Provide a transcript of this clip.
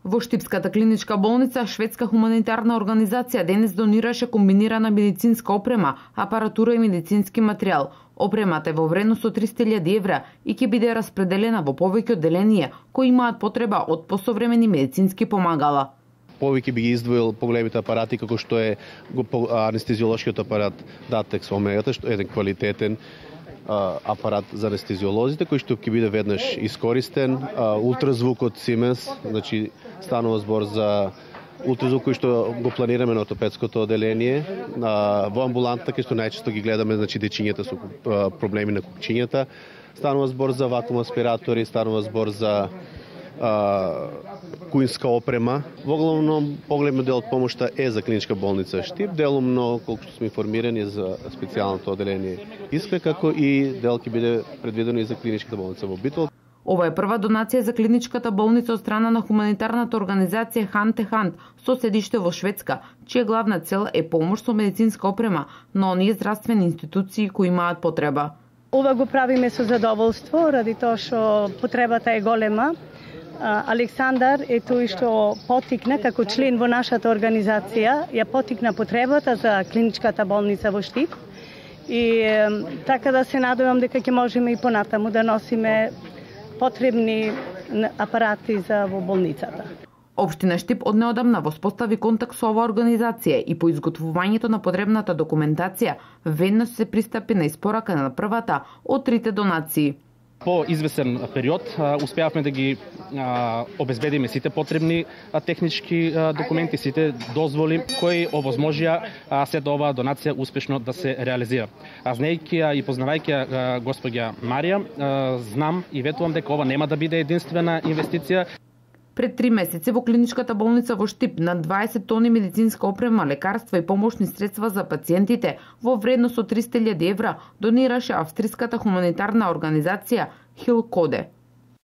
Во Штипската клиничка болница, шведска хуманитарна организација денес донираше комбинирана медицинска опрема, апаратура и медицински материјал. Опремата е во вредност од 300.000 евра и ќе биде распределена во повеќе одделенија кои имаат потреба од посовремени медицински помагала. Повеќе би ги издвоил поголемите апарати како што е анестезиолошкиот апарат Datex Omega, што е еден квалитетен апарат за анестезиолозите кој што ќе биде веднаш искористен, ултразвукот Siemens, значи станува збор за ултразвук кој што го планираме на ортопедското одделение, во амбулантата кај што најчесто ги гледаме, значи дечињата со проблеми на кукчињата, станува збор за вакуум аспиратори, станува збор за куинска опрема. Воглавно поголемиот дел од помошта е за клиничка болница Штип, делумно, колку што сме информирани, за специјалното одделение Искра, како и дел ќе биде предвидено и за клиничката болница во Битол. Ова е прва донација за клиничката болница од страна на хуманитарната организација Hand to Hand со седиште во Шведска, чија главна цел е помош со медицинска опрема на оние здравствени институции кои имаат потреба. Ова го правиме со задоволство, ради тоа што потребата е голема. Александар е тој што потикна како член во нашата организација, ја потикна потребата за клиничката болница во Штип и така да се надевам дека ќе можеме и понатаму да носиме потребни апарати за во болницата. Општина Штип од неодамна воспостави контакт со оваа организација и по изготвувањето на потребната документација веднаш се пристапи на испорака на првата од 3 донации. По извесен период успеавме да ги обезбедиме сите потребни технички документи, сите дозволи кои овозможија сета оваа донација успешно да се реализира. Знаејќи ја и познавајќи ја госпоѓа Марија, знам и ветувам дека ова нема да биде единствена инвестиција. Пред 3 месеци во клиничката болница во Штип на 20 тони медицинска опрема, лекарства и помошни средства за пациентите во вредност од 300.000 евра донираше австриската хуманитарна организација Хил Коде.